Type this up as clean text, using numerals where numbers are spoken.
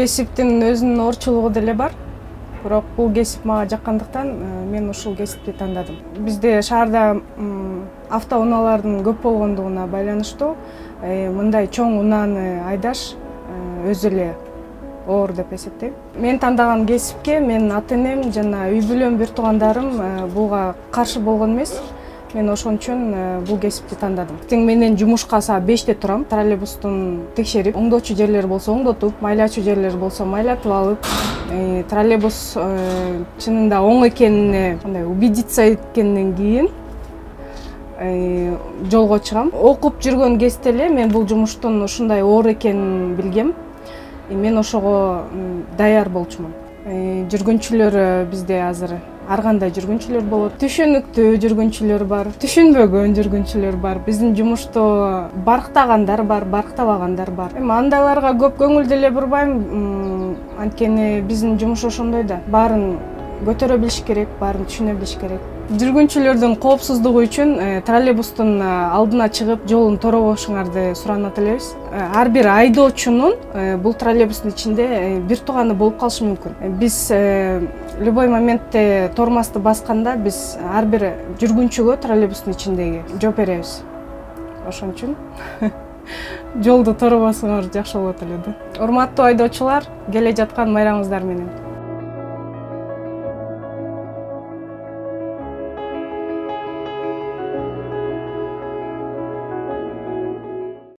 кесиптин өзүнүн оорчулугу деле бар. Бирок бул кесип мага жаккандыктан мен ушул кесипти тандадым. Бизде шаарда автоунаалардын көп болгондугуна байланыштуу мындай чоң унааны айдаш өзү эле оор деп эсептейм. Мен тандаган кесипке менин ата-энем жана үй бүлөм, бир туугандарым буга каршы болгон эмес. Мен ошон үчүн бул кесипти тандадым. Тең менен жумушка саат 5-те турам. Троллейбустун текшерип, оңдоочу жерлер болсо оңдотуп, майлачу жерлер болсо майлатып алып, троллейбус чынында оң экенине кандай убедиться эткенден кийин жолго чыгам. Окуп жүргөн кезде эле мен бул жумуштун ушундай оор экенин билгем. Мен ошого даяр болчумун. Жүргүнчүлөр бизде азыр ар кандай жүргүнчүлөр болот. Түшүнүктүү жүргүнчүлөр бар, түшүнбөгөн жүргүнчүлөр бар. Биздин жумушту барктагандар бар, барктабагандар бар. Эми андайларга көп көңүл деле бурбайм. Анткени биздин жумуш ошондой да. Баарын көтөрө билиш керек, баарын түшүнө билиш керек. Жүргүнчүлөрдүн коопсуздугу үчүн троллейбустун алдына чыгып жолун торобошуңарды суранат элебиз. Ар бир айдоочунун бул троллейбустун ичинде бир тууганы болуп калышы мүмкүн. Биз любой моментте тормозду басканда биз ар бир жүргүнчүгө троллейбустун ичиндеги жооп беребиз. Ошон үчүн жолду торобосоңор жакшы болот эле да. Урматтуу айдоочулар, келе жаткан майрамыңыздар менен.